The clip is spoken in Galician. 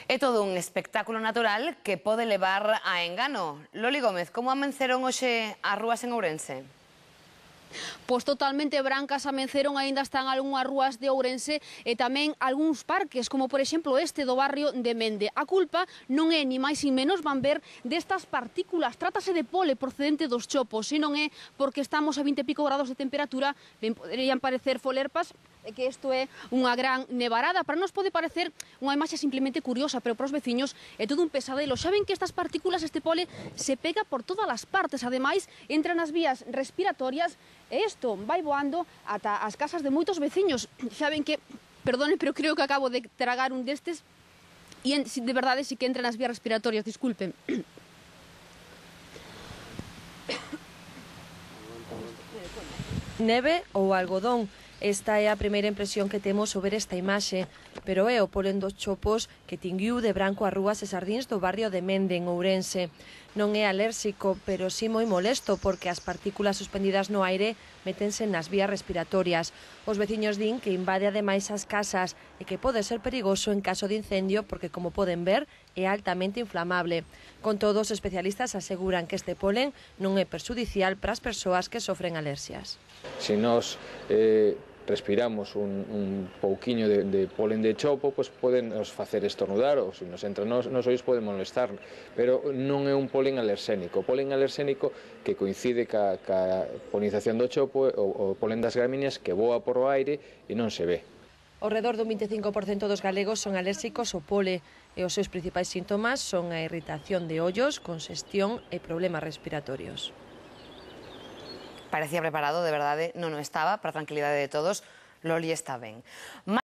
É todo un espectáculo natural que pode levar a engano. Loli Gómez, como amenceron hoxe as rúas en Ourense? Pois totalmente brancas amenceron, aínda están algunhas rúas de Ourense e tamén algúns parques, como por exemplo este do barrio de Mende. A culpa non é ni máis ni menos, van ver, destas partículas. Trátase de pole procedente dos chopos, e non é porque estamos a 20 e pico grados de temperatura, ben poderían parecer folerpas, e que isto é unha gran nevarada. Para nos pode parecer unha imaxe simplemente curiosa, pero para os veciños é todo un pesadelo. Xa ven que estas partículas, este pole, se pega por todas as partes. Ademais, entra nas vías respiratorias e isto vai voando ata as casas de moitos veciños. Xa ven que, perdone, pero creo que acabo de tragar un destes e de verdade sí que entra nas vías respiratorias, disculpen. Neve ou algodón. Esta é a primeira impresión que temos sobre esta imaxe, pero é o polen dos chopos que tinguiu de branco as rúas e sardíns do barrio de Mende, en Ourense. Non é alérxico, pero sí moi molesto, porque as partículas suspendidas no aire métense nas vías respiratorias. Os veciños din que invade ademais as casas e que pode ser perigoso en caso de incendio, porque, como poden ver, é altamente inflamable. Con todo, os especialistas aseguran que este polen non é perxudicial para as persoas que sofren alerxias. Se nós respiramos un pouquiño de polen de chopo, pois poden nos facer estornudar, ou se nos entra nos ollos pode molestar, pero non é un polen alerxénico. O polen alerxénico que coincide ca polinización do chopo, o polen das gramíneas que voa por o aire e non se ve. Ao redor do 25% dos galegos son alérxicos ao pole e os seus principais síntomas son a irritación de ollos, congestión e problemas respiratorios. Parecía preparado, de verdade, non o estaba, para a tranquilidade de todos. Loli está ben.